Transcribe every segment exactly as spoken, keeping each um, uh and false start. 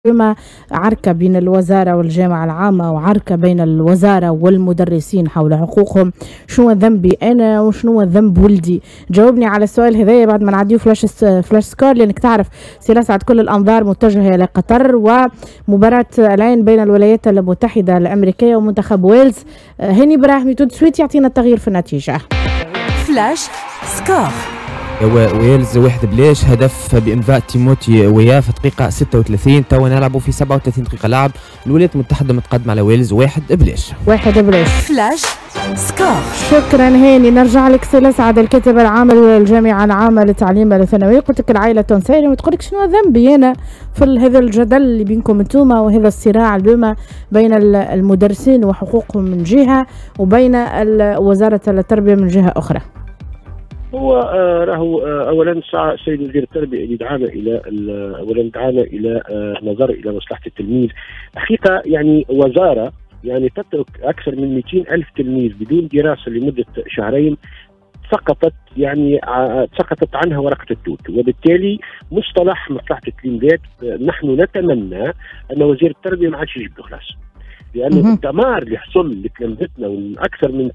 بما عركة بين الوزارة والجامعة العامة وعركة بين الوزارة والمدرسين حول حقوقهم، شنو ذنبي أنا وشنو ذنب ولدي؟ جاوبني على السؤال هذايا بعد ما نعديو flash flash score، لأنك تعرف سي لسعد كل الأنظار متجهة إلى قطر ومباراة العين بين الولايات المتحدة الأمريكية ومنتخب ويلز. هاني براهمي tout de suite يعطينا التغيير في النتيجة. flash score. ويلز واحد بلاش، هدف بامضاء تيموتي ويا في دقيقة ستة وثلاثين. توا نلعبوا في سبعة وثلاثين دقيقة لعب، الولايات المتحدة متقدمة على ويلز واحد بلاش. واحد بلاش. flash score. شكرا هاني. نرجع لك سي لسعد الكاتب العام للجامعة العامة للتعليم الثانوي. قلت لك العائلة التونسية وتقول لك شنو ذنبي أنا في هذا الجدل اللي بينكم انتوما وهذا الصراع اليوم بين المدرسين وحقوقهم من جهة وبين وزارة التربية من جهة أخرى. هو راهو اولا السيد وزير التربية اللي دعانا الى اولا دعانا الى نظر الى مصلحة التلميذ. حقيقة يعني وزارة يعني تترك اكثر من مئتين ألف تلميذ بدون دراسة لمدة شهرين، سقطت يعني سقطت عنها ورقة التوت، وبالتالي مصطلح مصلحة التلميذات نحن نتمنى ان وزير التربية ما عادش يجيب له خلاص، لأنه الدمار اللي حصل لتلامذتنا وأكثر من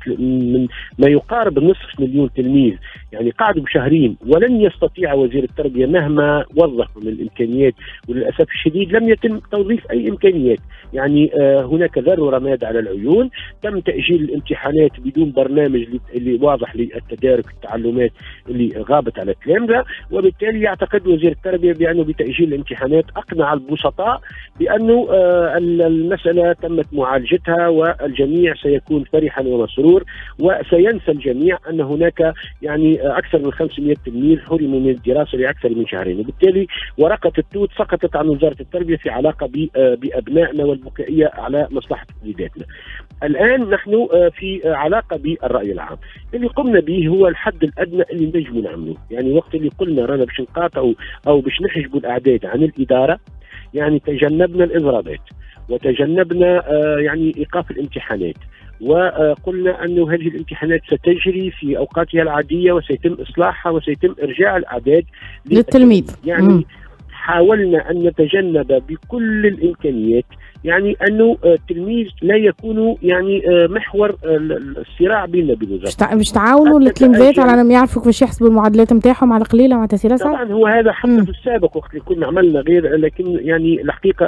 من ما يقارب نصف مليون تلميذ يعني قعدوا بشهرين، ولن يستطيع وزير التربية مهما وظف من الإمكانيات، وللأسف الشديد لم يتم توظيف أي إمكانيات. يعني آه هناك ذر رماد على العيون، تم تأجيل الامتحانات بدون برنامج اللي واضح للتدارك التعلمات اللي غابت على التلامذة، وبالتالي يعتقد وزير التربية بأنه بتأجيل الامتحانات أقنع البسطاء بأنه آه المسألة تمت معالجتها والجميع سيكون فرحا ومسرور، وسينسى الجميع أن هناك يعني أكثر من خمسمئة تلميذ حرموا من الدراسة لأكثر من شهرين، وبالتالي ورقة التوت سقطت عن وزارة التربية في علاقة بأبنائنا والبكائية على مصلحة وليداتنا. الآن نحن في علاقة بالرأي العام، اللي قمنا به هو الحد الأدنى اللي نجم نعمله، يعني وقت اللي قلنا رانا باش نقاطعوا أو باش نحجبوا الأعداد عن الإدارة، يعني تجنبنا الإضرابات وتجنبنا يعني إيقاف الامتحانات، وقلنا أن هذه الامتحانات ستجري في أوقاتها العادية وسيتم إصلاحها وسيتم إرجاع الأعداد للتلميذ. يعني مم. حاولنا أن نتجنب بكل الإمكانيات يعني أنه التلميذ لا يكون يعني محور الصراع بيننا وبين الوزارة. باش تعاونوا التلاميذات على أنهم يعرفوا كيفاش يحسبوا المعادلات نتاعهم على قليلة مع تسهيل؟ طبعا هو هذا حتى مم. في السابق وقت اللي كنا عملنا غير، لكن يعني الحقيقة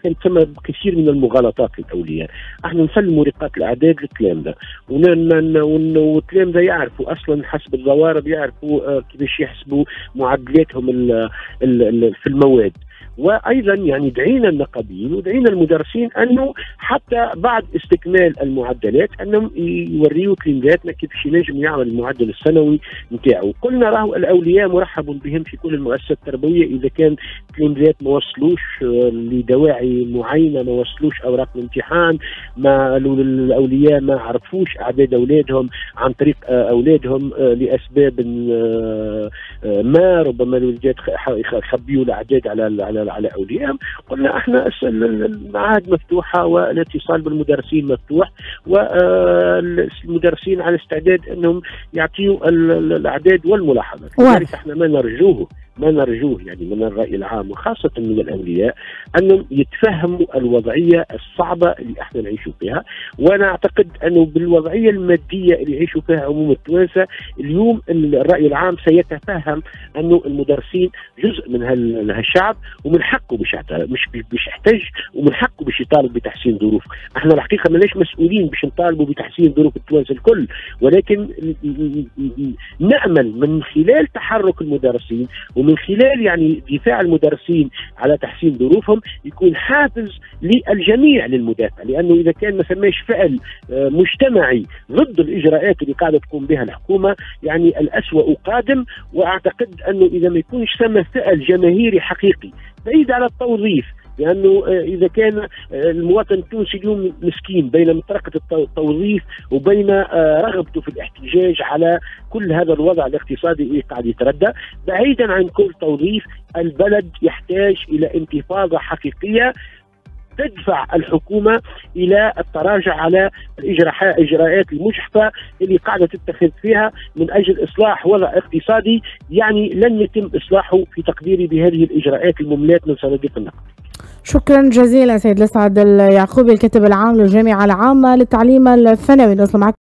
كانت ثم كثير من المغالطات للأولياء. احنا نسلموا رقات الأعداد للتلامذة، والتلامذة يعرفوا أصلا حسب الضوارب، يعرفوا كيفاش يحسبوا معادلاتهم ال ال في المواد. وايضا يعني دعينا النقابيين ودعينا المدرسين انه حتى بعد استكمال المعدلات انهم يوريوا تلميذاتنا كيفاش ينجم يعمل المعدل السنوي نتاعو. قلنا راهو الاولياء مرحب بهم في كل المؤسسات التربوية اذا كان تلميذات ما وصلوش لدواعي معينة، ما وصلوش اوراق الامتحان، ما الاولياء ما عرفوش اعداد اولادهم عن طريق اولادهم لاسباب ما، ربما الوليدات خبيوا الاعداد على على على اوليائهم. قلنا احنا المعاهد مفتوحة والاتصال بالمدرسين مفتوح، والمدرسين على استعداد انهم يعطيوا الاعداد والملاحظات. لذلك احنا ما نرجوه ما نرجوه يعني من الراي العام وخاصة من الاولياء انهم يتفهموا الوضعية الصعبة اللي احنا نعيشوا فيها، وانا اعتقد انه بالوضعيه المادية اللي يعيشوا فيها عموم التوانسة اليوم الراي العام سيتفهم انه المدرسين جزء من هالشعب ومن حقه باش مش باش يحتج، ومن حقه باش يطالب بتحسين ظروف. احنا الحقيقة ماناش مسؤولين باش نطالبوا بتحسين ظروف التوانسة الكل، ولكن نامل من خلال تحرك المدرسين ومن خلال يعني دفاع المدرسين على تحسين ظروفهم يكون حافز للجميع للمدافع، لانه اذا كان ما سماش فعل مجتمعي ضد الاجراءات اللي قاعدة تقوم بها الحكومة يعني الاسوأ قادم. واعتقد انه اذا ما يكونش ثم فعل جماهيري حقيقي بعيد على التوظيف، لانه اذا كان المواطن التونسي اليوم مسكين بين مطرقه التوظيف وبين رغبته في الاحتجاج على كل هذا الوضع الاقتصادي اللي قاعد يتردى، بعيدا عن كل توظيف البلد يحتاج الى انتفاضة حقيقية تدفع الحكومة الى التراجع على الاجراءات المجحفه اللي قاعدة تتخذ فيها من اجل اصلاح وضع اقتصادي يعني لن يتم اصلاحه في تقديري بهذه الاجراءات المملات من صناديق النقد. شكرا جزيلا سيد لسعد اليعقوبي، الكاتب العام للجامعة العامة للتعليم الثانوي. نوصل معك.